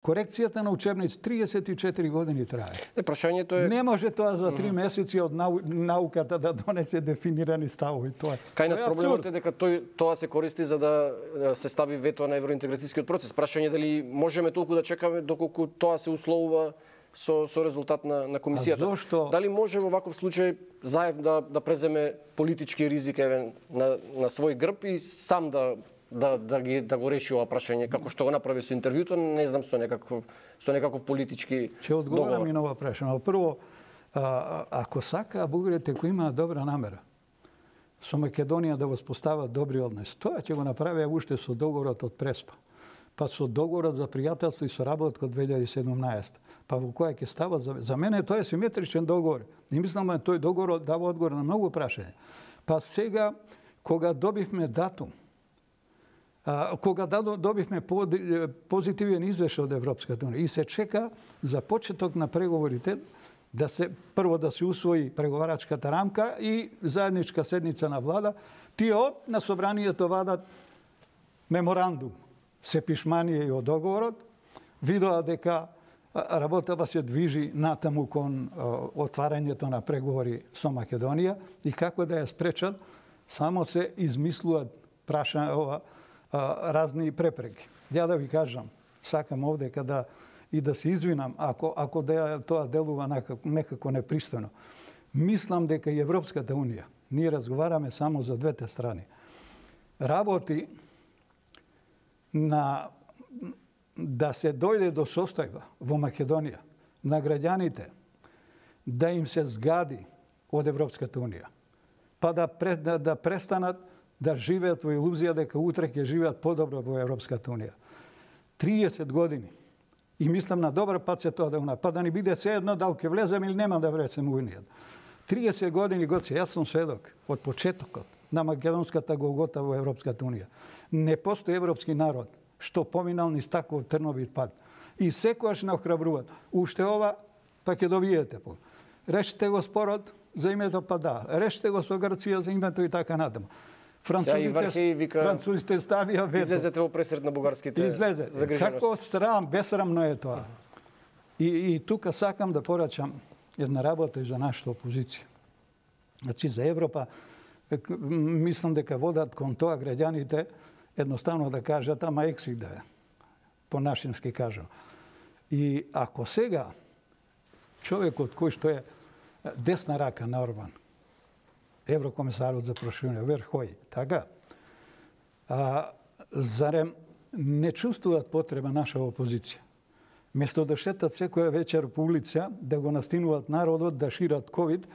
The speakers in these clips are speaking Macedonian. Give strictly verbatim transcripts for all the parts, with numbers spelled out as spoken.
Корекцијата на учебници триесет и четири години трае. Е, прашањето е... Не може тоа за три месеци од нау... науката да донесе дефинирани ставови. Тоа е. Кај нас тоа е проблемот е дека тој, тоа се користи за да се стави вето на евроинтеграцијскиот процес. Прашање е дали можеме толку да чекаме доколку тоа се условува со, со резултат на, на комисијата. А зошто? Дали може во ваков случај Заев да, да преземе политички ризик евен, на, на свој грб и сам да да да ги да го реши ова прашање како што го направи со интервјуто, не знам со некаков со некаков политички Ќе одговорам и на ова прашање. Прво, а, ако сака бугарите кои имаат добра намера со Македонија да воспостават добри односи, тоа ќе го направи уште со договорот од Преспа, па со договорот за пријателство и соработка од две илјади и седумнаесета, па во која ќе стават за, за мене тоа е симетричен договор. И мислам дека тој договор дава одговор на многу прашања. Па сега кога добивме датум, А, кога добивме позитивен извештај од Европската унија и се чека за почеток на преговорите да се прво да се усвои преговарачката рамка и заедничка седница на влада, тие од на собранието вадат меморандум се пишманија и од договорот, видоа дека работава се движи натаму кон отварањето на преговори со Македонија и како да ја спречат, само се измислуваат прашања ова разни препреки. Ја да ви кажам, сакам овде када и да се извинам ако ако да тоа делува некако, некако непристојно. Мислам дека и Европската унија, ние разговараме само за двете страни, работи на да се дојде до состојба во Македонија на граѓаните да им се згади од Европската унија, па да, да, да престанат да живеат во илузија дека утре ќе живеат подобро во Европската унија. триесет години. И мислам на добар пат се тоа да го па да ни биде се едно дали ќе влеземе или нема да влеземе во унијата. триесет години гоце, јас сум сведок од почетокот на македонската голгота во Европската унија. Не постои европски народ што поминал низ таков трновит пат. И секогаш не охрабруваат. Уште ова, па ќе добиете по. Решите го спорот за името, па да. Решите го со Грција за името и така натаму. Французите, вика, французите ставија вето. Излезете во пресред на бугарските Излезе. загрижености. Како срам, бесрамно е тоа. И, и тука сакам да порачам една работа и за нашата опозиција. Значи, за Европа, мислам дека водат кон тоа граѓаните едноставно да кажат, ама ексик да е. По нашински кажам. И ако сега човекот кој што е десна рака на Орбан, еврокомисарот за проширување, Верхој, така, а, зарем не чувствуваат потреба наша опозиција? Место да шетат секоја вечер по улица, да го настинуваат народот, да шират ковид,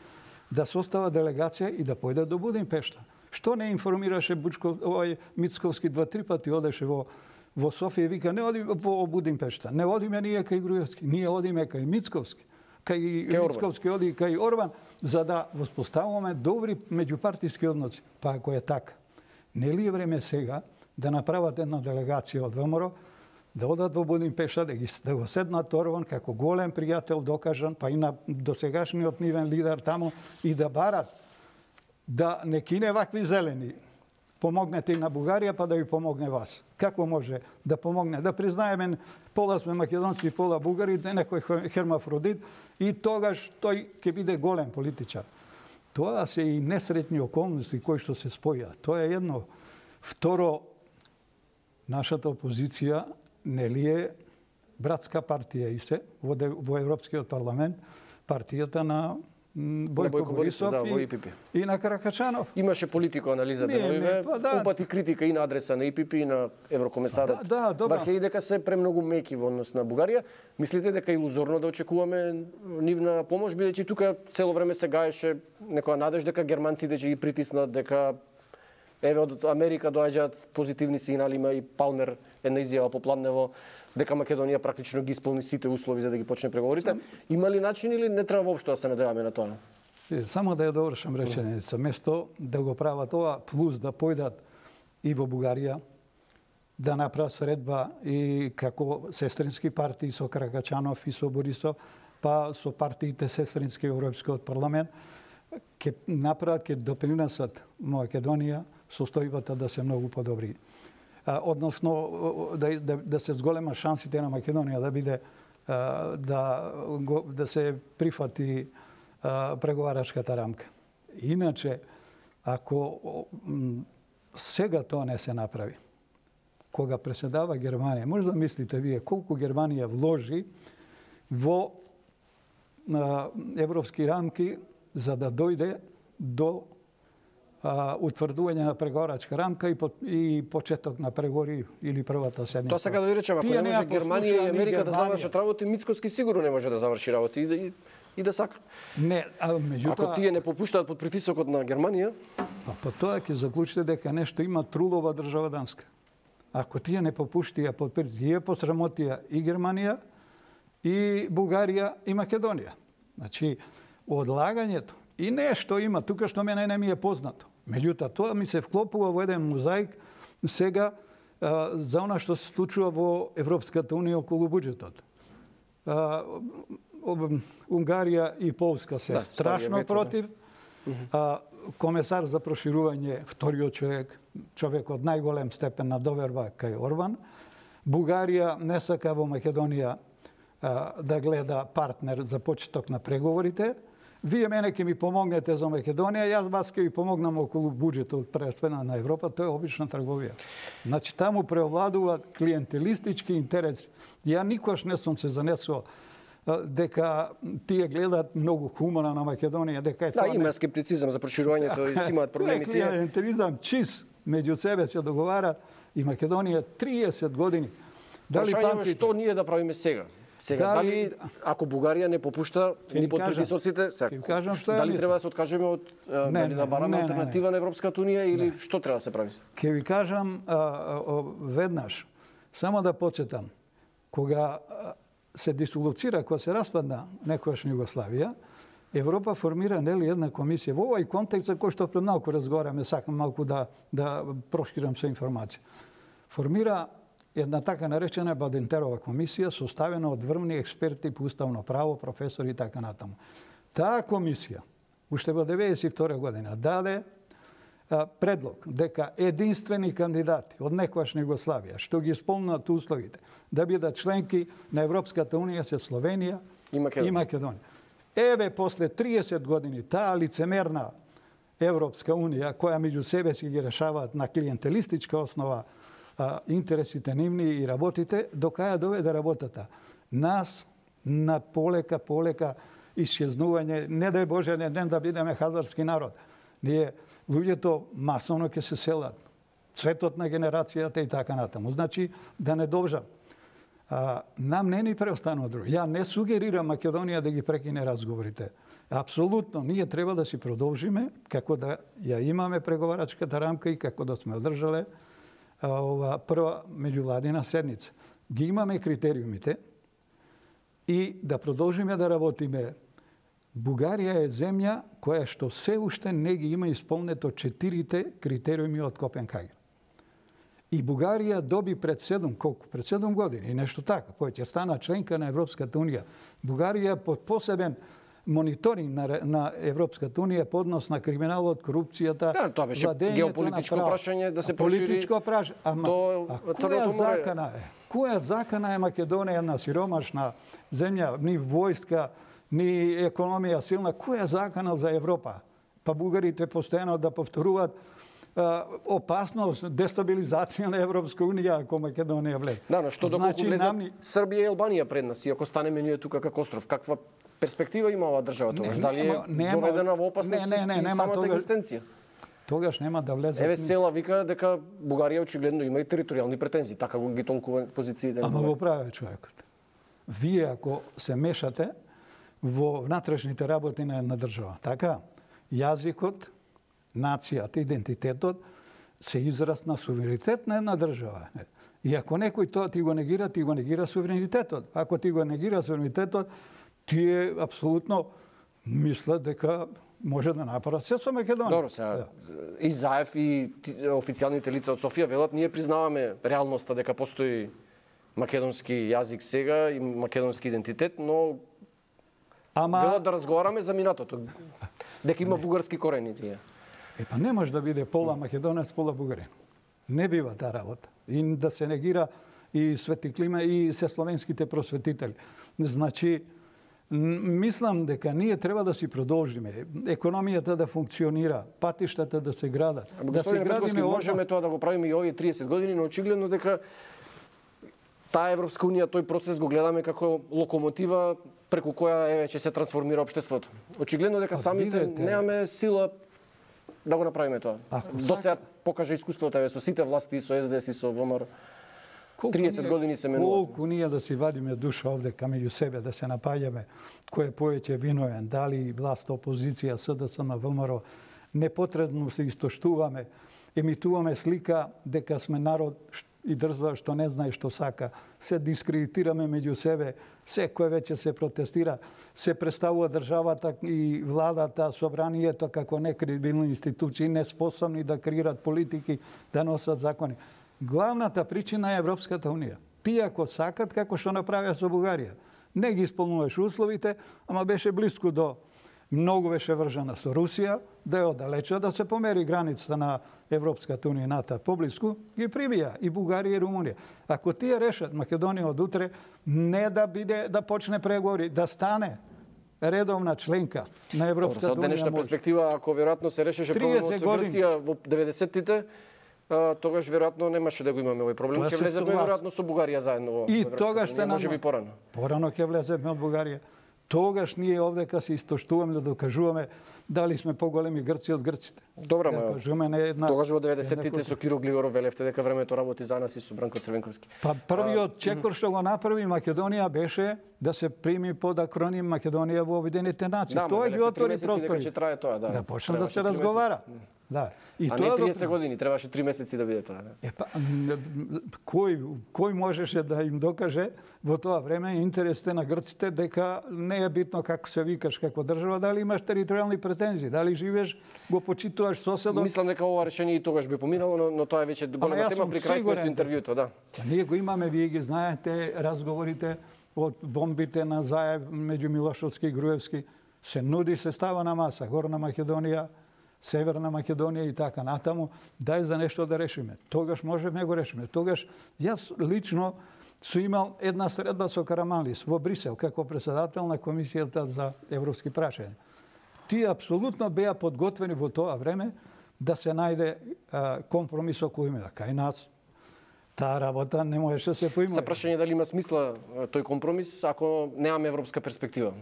да состава делегација и да појдат до Будимпешта. Што не информираше Бучков, овој Мицковски два-три пати одеше во во Софија и вика не оди во Будимпешта, не одиме ние кај Груевски, ние одиме кај Мицковски, кај Мицковски оди кај Орбан, за да воспоставуваме добри меѓупартиски односи. Па ако е така, нели е време сега да направат една делегација од ВМРО, да одат во Будимпешта, да ги да го седнат Орбан како голем пријател докажан, па и на досегашниот нивен лидер таму и да барат да не кине вакви зелени. Помогнете и на Бугарија, па да ви помогне вас. Како може да помогне? Да признаеме пола сме македонци, пола бугари, некој хермафродит и тогаш тој ќе биде голем политичар. Тоа се и несретни околности кои што се споја. Тоа е едно. Второ, нашата опозиција нели е братска партија и се во, во Европскиот парламент, партијата на Бојко, Бојко Борисов, Борисов да, и, во И Пи Пи. И на Каракачанов. Имаше политико анализа деновиве, па да. упати критика и на адреса на И Пи Пи и на еврокомисарот. Да, да, добро. Бархеј дека се премногу меки во однос на Бугарија. Мислите дека е илузорно да очекуваме нивна помош, бидејќи тука цело време се гаеше некоја надеж дека германците ќе ги притиснат, дека еве од Америка доаѓаат позитивни сигнали, има и Палмер една изјава попладнево дека Македонија практично ги исполни сите услови за да ги почне преговорите. Сам... Има ли начин или не треба воопшто да се надеваме на тоа? Само да ја довршам реченица. Место да го прават ова, плюс да појдат и во Бугарија, да направат средба и како сестрински партии со Каракачанов и со Борисов, па со партиите сестрински во Европскиот парламент, ќе направат, ќе допринесат Македонија состојбата да се многу подобри. односно да, да, да се зголема шансите на Македонија да биде да, да се прифати преговарачката рамка. Иначе, ако сега тоа не се направи, кога преседава Германија, може да мислите вие колку Германија вложи во европски рамки за да дојде до а, утврдување на преговарачка рамка и, по, и почеток на преговори или првата седмица. Тоа сега да ви речем, ако не може Германија и Америка да завршат работи, Мицкоски сигурно не може да заврши работи и да, и, и да сака. Не, а меѓутоа... Ако тие не попуштаат под притисокот на Германија... А по тоа ќе заклучите дека нешто има трулова држава Данска. Ако тие не попуштија под притисок, тие посрамотија и Германија, и Бугарија, и Македонија. Значи, одлагањето и нешто има тука што мене не ми е познато. Меѓутоа, тоа ми се вклопува во еден мозаик сега а, за она што се случува во Европската унија околу буџетот. А, Унгарија и Полска се да, страшно вето, против. Да. А, комесар за проширување, вториот човек, човек од најголем степен на доверба кај Орбан. Бугарија не сака во Македонија а, да гледа партнер за почеток на преговорите. Вие мене ќе ми помогнете за Македонија, јас вас ќе ви помогнам околу буџетот прераспределена на Европа, тоа е обична трговија. Значи таму преовладува клиентелистички интерес. Ја никош не сум се занесувал дека тие гледаат многу хумано на Македонија, дека е тоа. Да, има скептицизам за проширувањето и си имаат проблеми тие. Клиентелизам чист меѓу себе се договарат и Македонија триесет години. Дали памтите што ние да правиме сега? Сега дали, дали ако Бугарија не попушта ни под притисоците, сега, дали треба да се откажеме од не, да бараме алтернатива на Европската унија или не. Што треба да се прави? Ќе ви кажам а, а, веднаш, само да подсетам, кога се дисолуцира, кога се распадна некојашна Југославија, Европа формира нели една комисија. Во овој контекст за кој што пред малку разговараме, сакам малку да да проширам со информација. Формира една така наречена Бадентерова комисија, составена од врвни експерти по уставно право, професори и така натаму. Таа комисија, уште во деветдесет и втора година, даде а, предлог дека единствени кандидати од некојашна Југославија, што ги исполнат условите, да бидат членки на Европската унија се Словенија и Македонија. И Македонија. Еве, после триесет години, таа лицемерна Европска унија, која меѓу себе си ги решаваат на клиентелистичка основа а, интересите нивни и работите, до каја доведе работата. Нас на полека, полека исчезнување, не дај Боже еден ден да бидеме хазарски народ. Ние, луѓето масовно ќе се селат. Цветот на генерацијата и така натаму. Значи, да не должам. А, нам не ни преостанува друго. Ја не сугерирам Македонија да ги прекине разговорите. Апсолутно, ние треба да си продолжиме како да ја имаме преговарачката рамка и како да сме одржале а, ова прва меѓувладина седница. Ги имаме критериумите и да продолжиме да работиме. Бугарија е земја која што се уште не ги има исполнето четирите критериуми од Копенхаген. И Бугарија доби пред седум, колку? Пред седум години, и нешто така, кој ќе стана членка на Европската унија. Бугарија под посебен мониторинг на, на Европската унија по однос на криминалот, корупцијата, да, тоа беше геополитичко прашање да се прошири. Политичко прашање, ама а која закана е? Која закана е Македонија, една сиромашна земја, ни војска, ни економија силна, која закана за Европа? Па бугарите постојано да повторуваат опасност, дестабилизација на Европска унија ако Македонија влезе. Да, но што доколку значи, влезат намни... Србија и Албанија пред нас и ако станеме ние тука како остров, каква перспектива има оваа држава тогаш? Дали е нема, доведена во опасност не, не, не, и самата тогаш, екзистенција? Тогаш нема да влезе. Еве Села вика дека Бугарија очигледно има и територијални претензии, така го ги толкува позициите. Ама го прави човекот. Вие ако се мешате во внатрешните работи на една држава, така, јазикот, нацијата, идентитетот се израз на суверенитет на една држава. И ако некој тоа ти го негира, ти го негира суверенитетот. Ако ти го негира суверенитетот, тие апсолутно мислат дека може да направат се со Македонија. Добро, сега и Заев и официјалните лица од Софија велат ние признаваме реалноста дека постои македонски јазик сега и македонски идентитет, но Ама... велат да разговараме за минатото. Дека има не. бугарски корени тие. Е, па не може да биде пола македонец, пола бугарин. Не бива таа работа. И да се негира и Свети Климе и се словенските просветители. Значи, мислам дека ние треба да си продолжиме. Економијата да функционира, патиштата да се градат. Да се градиме, можеме тоа да го правиме и овие триесет години, но очигледно дека таа Европска унија, тој процес го гледаме како локомотива преку која еве ќе се трансформира општеството. Очигледно дека самите немаме сила да го направиме тоа. До сега покажа искуството еве со сите власти, со С Д С и со Во М Р. триесет години се менува. Колку ние да си вадиме душа овде камеѓу себе, да се напаѓаме кој е повеќе виновен, дали власт, опозиција, С Д С на В М Р, непотребно се истоштуваме, емитуваме слика дека сме народ и држава што не знае што сака, се дискредитираме меѓу себе, секој веќе се протестира, се представува државата и владата, собранието како некредибилни институции, неспособни да креират политики, да носат закони. Главната причина е Европската унија. Тие ако сакат, како што направија со Бугарија, не ги исполнуваш условите, ама беше близко до, многу беше вржана со Русија, да е оддалеча, да се помери границата на Европската унија ната поблиску, ги прибија и Бугарија и Румунија. Ако тие решат Македонија од утре не да биде да почне преговори, да стане редовна членка на Европската унија. Од денешна перспектива, ако веројатно се решеше проблемот со Грција во деветдесеттите, тогаш веројатно немаше да го имаме овој проблем. Ќе влеземе веројатно со Бугарија заедно во и тогаш се можеби порано. Порано ќе влеземе од Бугарија. Тогаш ние овдека се истоштуваме да докажуваме дали сме поголеми Грци од грците. Добра, ма. Една, тогаш во деветдесеттите со Киро Глигоров велевте дека времето работи за нас и со Бранко Црвенковски. Па првиот чекор што го направи Македонија беше да се прими под акроним Македонија во Обединетите нации. Да, тоа ги отвори простори. Дека ќе трае тоа, да. Да почне да се разговара. Да. И а тоа не триесет години, требаше три месеци да биде тоа. Да. Е, па, кој, кој можеше да им докаже во тоа време интересите на грците дека не е битно како се викаш како држава, дали имаш територијални претензии, дали живееш, го почитуваш соседот. Мислам дека ова решение и тогаш би поминало, но, но тоа е веќе голема тема при крај сме со интервјуто, да. А ние го имаме, вие ги знаете, разговорите од бомбите на Заев меѓу Милошовски и Груевски. Се нуди, се става на маса, Горна Македонија, Северна Македонија и така натаму, дај за нешто да решиме. Тогаш можеме го решиме. Тогаш јас лично су имал една средба со Караманлис во Брисел како председател на Комисијата за европски прашања. Тие апсолутно беа подготвени во тоа време да се најде а, компромис околу имена. Кај нас таа работа не можеше да се поима. За прашање дали има смисла тој компромис ако немаме европска перспектива.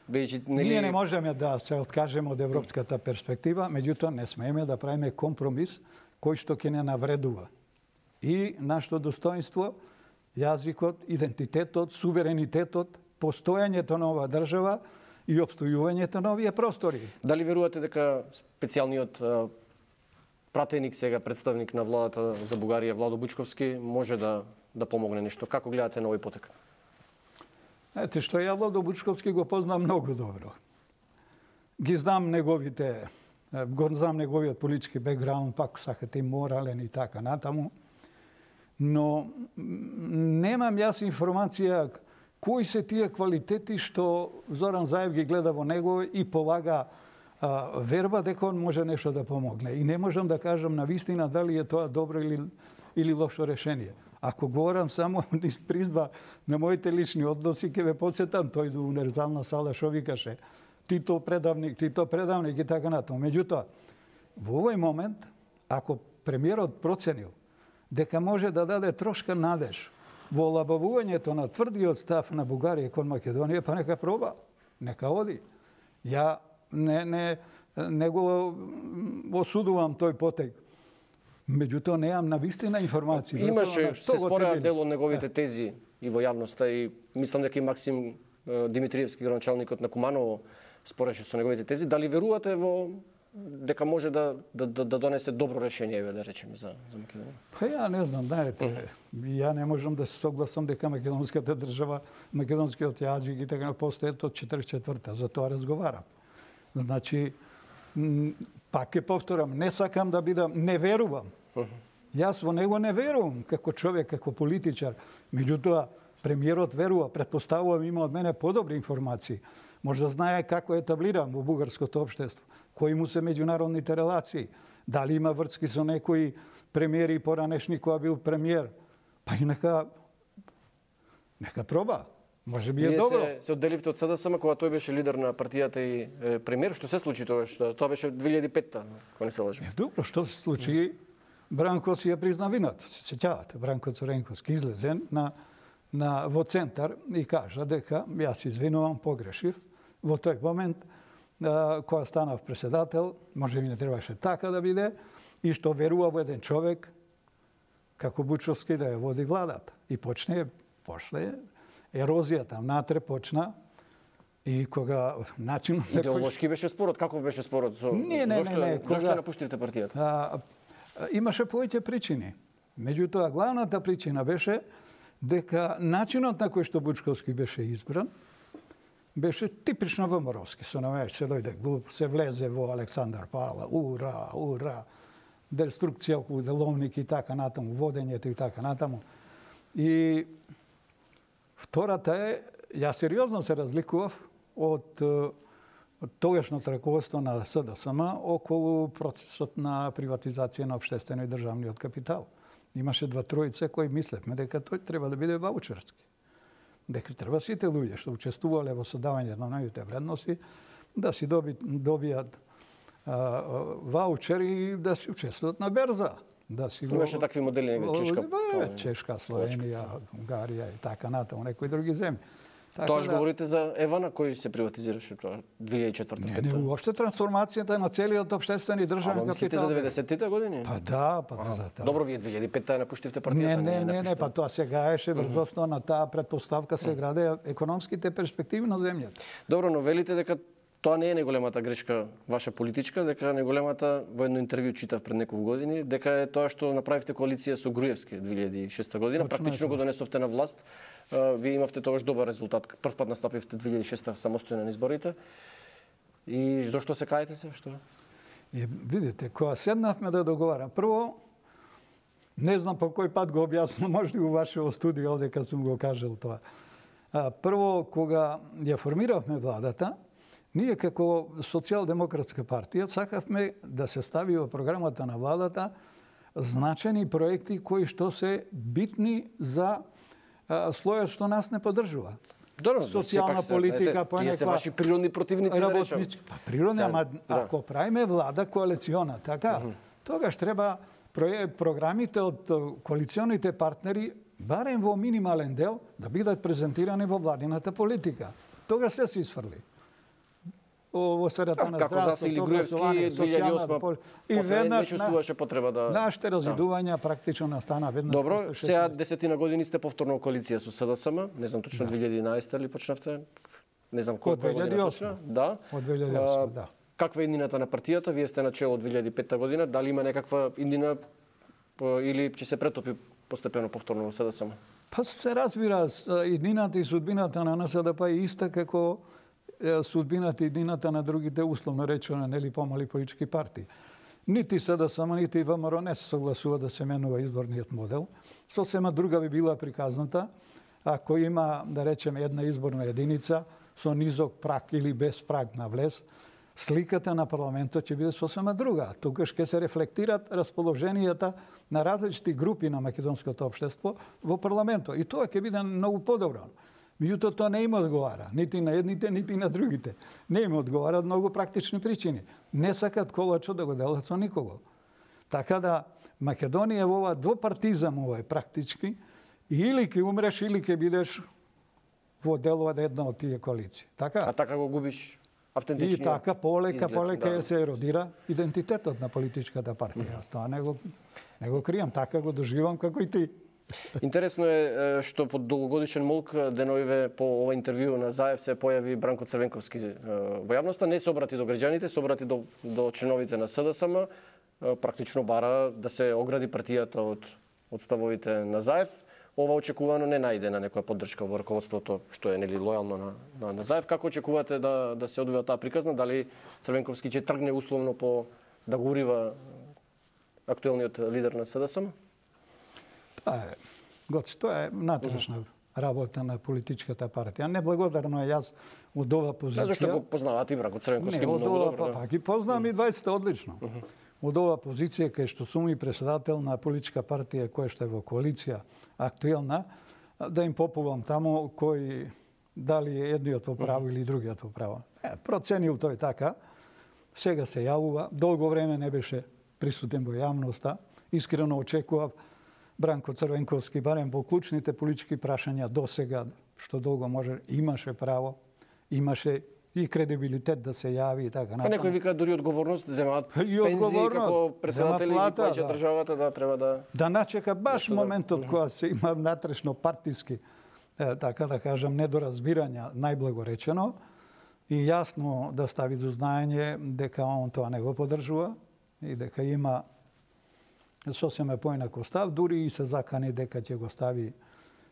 Бејќи, нели... Ние не можеме да се откажеме од европската перспектива, меѓутоа не смееме да правиме компромис кој што ќе не навредува. И нашето достоинство, јазикот, идентитетот, суверенитетот, постојањето на оваа држава и обстојувањето на овие простори. Дали верувате дека специјалниот пратеник сега, представник на владата за Бугарија, Владо Бучковски, може да, да помогне нешто? Како гледате на овој потек? Ете што ја Владо Бучковски го познам многу добро. Ги знам неговите, го знам неговиот политички бекграунд, пак сакате и морален и така натаму. Но немам јас информација кои се тие квалитети што Зоран Заев ги гледа во него и полага а, верба дека он може нешто да помогне. И не можам да кажам на вистина дали е тоа добро или, или лошо решение. Ако говорам само низ призба на моите лични односи, ќе ве подсетам тој до универзална сала што викаше Тито предавник, Тито предавник и така натаму. Меѓутоа, во овој момент, ако премиерот проценил дека може да даде трошка надеж во олабавувањето на тврдиот став на Бугарија кон Македонија, па нека проба, нека оди. Ја не, не, не го осудувам тој потег. Меѓутоа неам на вистина информација. Имаше, се спореа дел од неговите тези и во јавноста и мислам дека и Максим Димитриевски, градоначалникот на Куманово, спореше со неговите тези. Дали верувате во дека може да да да, да донесе добро решение, да речеме, за за Македонија? Па ја не знам, знаете, uh -huh. ја не можам да се согласам дека македонската држава, македонскиот јазик и така постојат од четиридесет и четврта, за тоа разговарам. Значи, пак ќе повторам, не сакам да бидам, не верувам. Uh -huh. Јас во него не верувам како човек, како политичар. Меѓутоа, премиерот верува, претпоставувам има од мене подобри информации. Може да знае како е етаблиран во бугарското општество, кои му се меѓународните релации, Дали има врски со некои премиери поранешни која бил премиер? Па и нека нека проба. Може би е Вие добро. се, се одделивте од СДСМ кога тој беше лидер на партијата и е, премиер. Што се случи тоа? Што тоа беше две илјади и петта, кога не се лажам. Добро, што се случи? Бранко си ја призна вината. Се сеќавате, Бранко Цуренковски излезе на на во центар и кажа дека јас извинувам, погрешив. Во тој момент а, кога станав председател, може би не требаше така да биде, и што верува во еден човек како Бучовски да ја води владата. И почне, после ерозијата внатре почна и кога начин Идеолошки беше спорот, каков беше спорот? Со... Не, не, зошто, не, не, Зошто кога... напуштивте партијата? А, имаше повеќе причини. Меѓутоа, главната причина беше дека начинот на кој што Бучковски беше избран беше типично ВМРО-ски. Со навеќе се дојде глуп, се влезе во Александар Павла, ура, ура, деструкција околу деловник и така натаму, водењето и така натаму. И втората е, јас сериозно се разликував од тогашното раководство на СДСМ околу процесот на приватизација на општествено и државниот капитал. Имаше два тројца кои мислевме дека тој треба да биде ваучерски. Дека треба сите луѓе што учествувале во содавањето на новите вредности да си доби, добијат а, ваучер и да си учествуваат на берза. Да си го... Имаше такви модели, нега Чешка. Бе, Чешка, Словенија, Унгарија и така натаму, некои други земји. Така Тоа што да... говорите за Евана, кој се приватизираше тоа две илјади и четврта Не, не, уопште трансформацијата на целиот општествен и државен капитал. Мислите за деветдесеттите години? Па да, па да, да, да. Добро, вие две илјади и петта напуштивте партијата. Не, не, не, не, па тоа се гаеше врз основа на таа претпоставка се граде економските перспективи на земјата. Добро, но велите дека тоа не е неголемата грешка ваша политичка, дека неголемата, во едно интервју читав пред неколку години, дека е тоа што направивте коалиција со Груевски две илјади и шеста година, Точно практично е го донесовте на власт. Вие имавте тогаш добар резултат. Прв пат настапивте две илјади и шеста самостојно на изборите. И зошто се каете се? Што? И видите, кога седнавме да договарам, прво не знам по кој пат го објаснам, може во вашето студио овде кога сум го кажал тоа. А, прво кога ја формиравме владата, ние како Социјалдемократска партија сакавме да се стави во програмата на владата значени проекти кои што се битни за а, слојот што нас не поддржува. Добро, социјална политика, по некаква... Тие се ваши природни противници, да речем. Па природни, ама да. Ако правиме влада коалициона, така, uh -huh. тогаш треба програмите од коалиционите партнери, барем во минимален дел, да бидат презентирани во владината политика. Тогаш се се исфрли. Во сферата на како засили Груевски две илјади и осма, и веднаш не чувствуваше потреба да нашите развидувања практично настана веднаш. Добро, сега десетина години сте повторно коалиција со СДСМ, не знам точно две илјади и единаесета ли почнавте? Не знам кој година почна. Да. Од две илјади и осма, да. Каква е иднината на партијата? Вие сте на чело од две илјади и петта година. Дали има некаква иднина или ќе се претопи постепено повторно во СДСМ? Па се разбира, иднината и судбината на НСДП е иста како судбината и иднината на другите условно речено, нели помали политички партии. Нити СДСМ, нити ВМРО не се согласува да се менува изборниот модел. Сосема друга би била приказната ако има, да речеме, една изборна единица со низок праг или без праг на влез, сликата на парламентот ќе биде сосема друга. Тогаш ќе се рефлектират расположенијата на различити групи на македонското општество во парламентот. И тоа ќе биде многу подобро. Меѓутоа, тоа не им одговара, нити на едните, нити на другите. Не им одговара од многу практични причини. Не сакат колачо да го делат со никого. Така да, Македонија во ова двопартизам овој практички, или ќе умреш, или ќе бидеш во дел од една од тие коалиции. Така? А така го губиш автентичниот И така, полека, изглед, полека да. се еродира идентитетот на политичката партија. Тоа не го, не го кријам, така го доживам како и ти. Интересно е што под долгогодишен молк деновиве по ова интервју на Заев се појави Бранко Црвенковски во јавноста. Не се обрати до граѓаните, се обрати до, до членовите на СДСМ. Практично бара да се огради партијата од, од ставовите на Заев. Ова очекувано не најде на некоја поддршка во раководството, што е нели лојално на, на, на Заев. Како очекувате да, да се одвива таа приказна? Дали Црвенковски ќе тргне условно по да го урива актуелниот лидер на СДСМ? Тоа е, Гоци, тоа е натрешна работа на политичката партија. Неблагодарно е јас од ова позиција. Зашто го познавате и Бранко Црвенковски не, многу ова, добро. Па, па ги познавам и двајцата одлично. од ова позиција кај што сум и председател на политичка партија која што е во коалиција актуелна, да им попувам таму кој дали е едниот во право или другиот во право. Е, проценил тој така, сега се јавува, долго време не беше присутен во јавноста, искрено очекував Бранко Црвенковски, барем во клучните политички прашања до сега, што долго може, имаше право, имаше и кредибилитет да се јави и така натаму. Па некој вика дури одговорност, земаат пензии како председатели и плаќа да. државата, да треба да... Да начека баш да моментот да... кога се има внатрешно партиски, е, така да кажам, недоразбирања, најблаго речено, и јасно да стави до знаење дека он тоа не го подржува и дека има сосема поинаков став, дури и се закани дека ќе го стави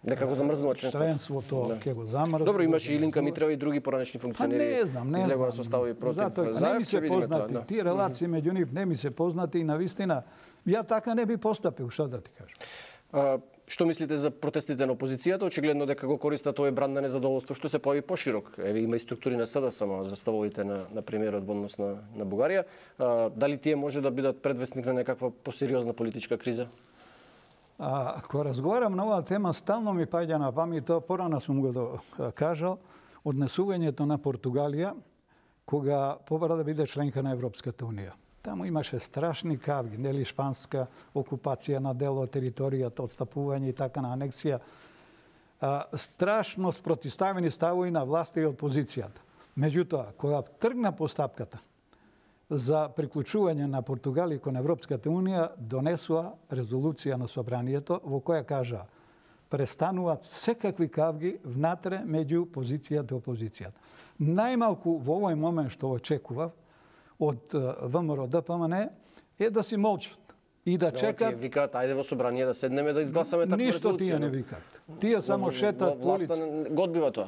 дека го замрзнува членството. Членството ќе го замрзне. Добро, имаше и Илинка Митрева и други поранешни функционери. Не знам, не излегува со ставови против Заев. Не ми се познати, да. Тие релации меѓу нив не ми се познати и навистина ја така не би постапил, што да ти кажам. А, што мислите за протестите на опозицијата? Очигледно дека го користат тој бранд на незадоволство што се појави поширок. Еве има и структури на СДСМ за ставовите на на премиерот во однос на на Бугарија. А, дали тие може да бидат предвестник на некаква посериозна политичка криза? А, ако разговарам на оваа тема, стално ми паѓа на памет, тоа порано сум го до, кажал, однесувањето на Португалија кога побара да биде членка на Европската унија. Таму имаше страшни кавги, нели шпанска окупација на дел од територијата, отстапување и така на анексија. А, страшно спротиставени ставови на власта и опозицијата. Меѓутоа, кога тргна постапката за приклучување на Португалија кон Европската унија, донесува резолуција на собранието во која кажа престануваат секакви кавги внатре меѓу позицијата и опозицијата. Најмалку во овој момент што очекував од ВМРО ДПМН е да си молчат и да чекат. Тие викаат ајде во собрание да седнеме да изгласаме таква резолуција. Ништо тие не викаат. Тие само шетат по улица. Власта го одбива тоа.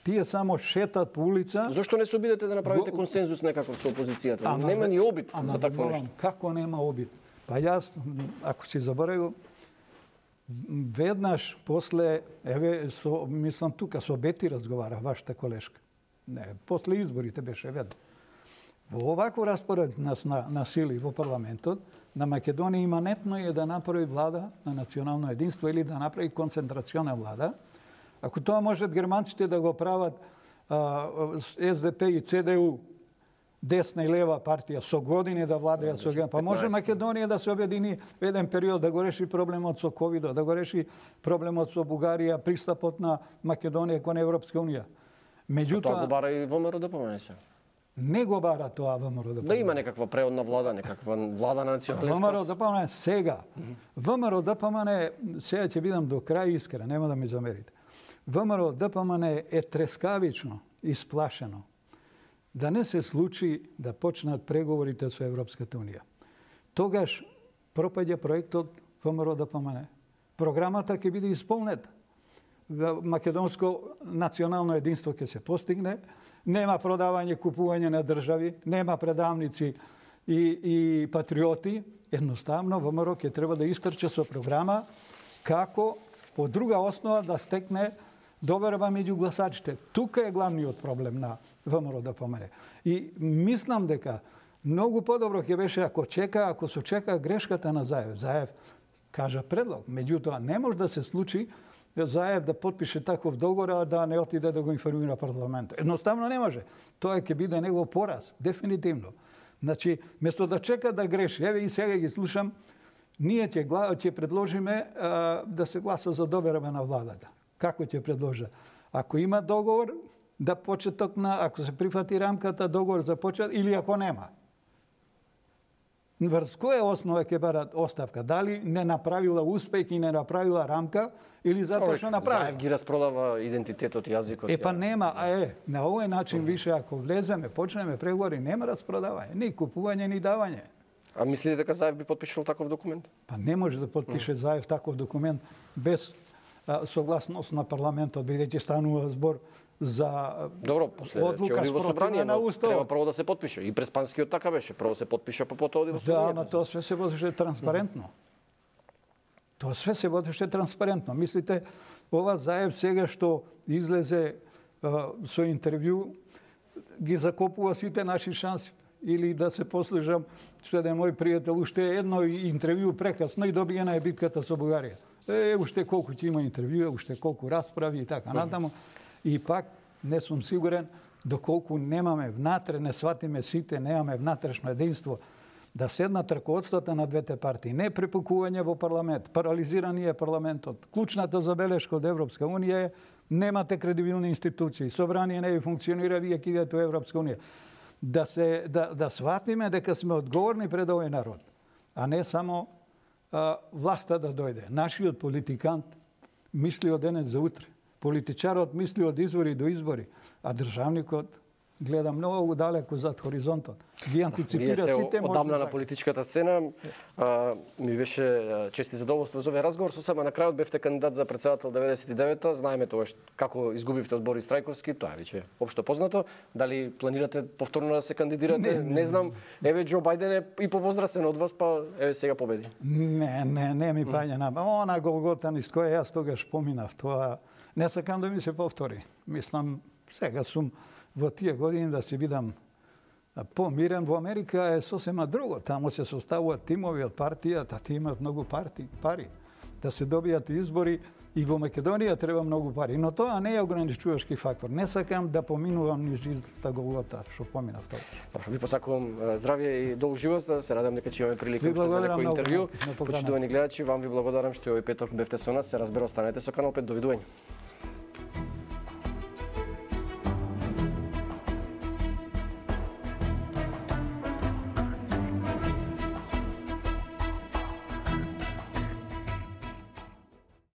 Тие само шетат по улица. Зошто не се обидете да направите консензус некаков со опозицијата? Ама, нема ни обид ама, за такво нешто. Како нема обид? Па јас, ако си заборавил, веднаш после, еве, со, мислам тука со Бети разговара, вашата колешка. Не, после изборите беше веднаш. Во оваков распоред на, на, на сили во парламентот, на Македонија иманетно е да направи влада на национално единство или да направи концентрациона влада. Ако тоа можат германците да го прават а, СДП и ЦДУ, десна и лева партија, со години да владеат со Германија, па може Македонија да се обедини во еден период да го реши проблемот со ковидот, да го реши проблемот со Бугарија, пристапот на Македонија кон Европска унија. Меѓутоа, тоа го бара и ВМРО ДПМН се. Не го бара тоа ВМРО ДПМН. Да има некаква преодна влада, некаква влада на национален спас. ВМРО ДПМН сега. ВМРО ДПМН, сега ќе бидам до крај искрен, нема да ми замерите. ВМРО ДПМН е трескавично исплашено да не се случи да почнат преговорите со Европската унија. Тогаш пропаѓа проектот ВМРО ДПМН. Програмата ќе биде исполнета. Македонско национално единство ќе се постигне, нема продавање, купување на држави, нема предавници и, и патриоти. Едноставно, ВМРО ќе треба да истрче со програма како по друга основа да стекне доверба меѓу гласачите. Тука е главниот проблем на ВМРО ДПМН. И мислам дека многу подобро ќе беше ако чека, ако се чека грешката на Заев. Заев кажа предлог, меѓутоа не може да се случи Заев да потпише таков договор, а да не отиде да го информира парламентот. Едноставно не може. Тоа ќе биде негов пораз, дефинитивно. Значи, место да чека да греши, еве и сега ги слушам, ние ќе, ќе предложиме а, да се гласа за доверба на владата. Како ќе предложа? Ако има договор, да почеток на, ако се прифати рамката, договор за почет, или ако нема. Врз која основа ќе барат оставка? Дали не направила успех и не направила рамка, или затоа што направила? Заев ги распродава идентитетот и јазикот. Е, па нема, а е, на овој начин више, ако влеземе, почнеме преговори, нема распродавање, ни купување, ни давање. А мислите дека Заев би потпишал таков документ? Па не може да потпише Заев таков документ без а, согласност на парламентот, бидејќи станува збор за Добро, после ќе оди во собрание, но треба прво да се потпише. И Преспанскиот така беше, прво се потпиша, па потоа оди во собрание. Да, ама тоа све се водеше транспарентно. Тоа све се водеше транспарентно. Мислите, ова Заев сега што излезе а, со интервју, ги закопува сите наши шанси. или да се послужам што еден мој пријател уште едно интервју прекасно и добија на битката со Бугарија. Е, уште колку ќе има интервјуа, уште колку расправи и така натаму. И пак не сум сигурен доколку немаме внатре, не сватиме сите, немаме внатрешно единство, да седнат раководствата на двете партии. Не препукување во парламент, парализирани е парламентот. Клучната забелешка од Европска унија е немате кредибилни институции, собрание не ви функционира, вие ќе идете во Европска унија. Да се да да сватиме дека сме одговорни пред овој народ, а не само а, власта да дојде. Нашиот политикант мисли од денес за утре. Политичарот мисли од избори до избори, а државникот гледа многу далеку зад хоризонтот. Ги антиципира сите сите можни. Одамна на политичката сцена. А, ми беше чест и задоволство за овој разговор. Со само на крајот бевте кандидат за председател деветдесет и девета. Знаеме тогаш како изгубивте од Борис Трајковски. Тоа е веќе општо познато. Дали планирате повторно да се кандидирате? Не, не, не знам. Еве Џо Бајден е и повозрасен од вас, па еве сега победи. Не, не, не ми паѓа на. Она Голгота низ која јас тогаш поминав. Тоа не сакам да ми се повтори. Мислам, сега сум во тие години да се бидам помирен. Во Америка е сосема друго. Таму се составуваат тимови од партијата, ти имаат многу парти, пари. Да се добијат избори и во Македонија треба многу пари. Но тоа не е ограничувачки фактор. Не сакам да поминувам низ иста Голгота, што поминав тоа. Добро, ви посакувам здравје и долг живот. Се радам дека ќе имаме прилика уште за некој интервју. Почитувани гледачи, вам ви благодарам што овој петок бевте со нас. Се разбира, останете со Канал пет. Довидување.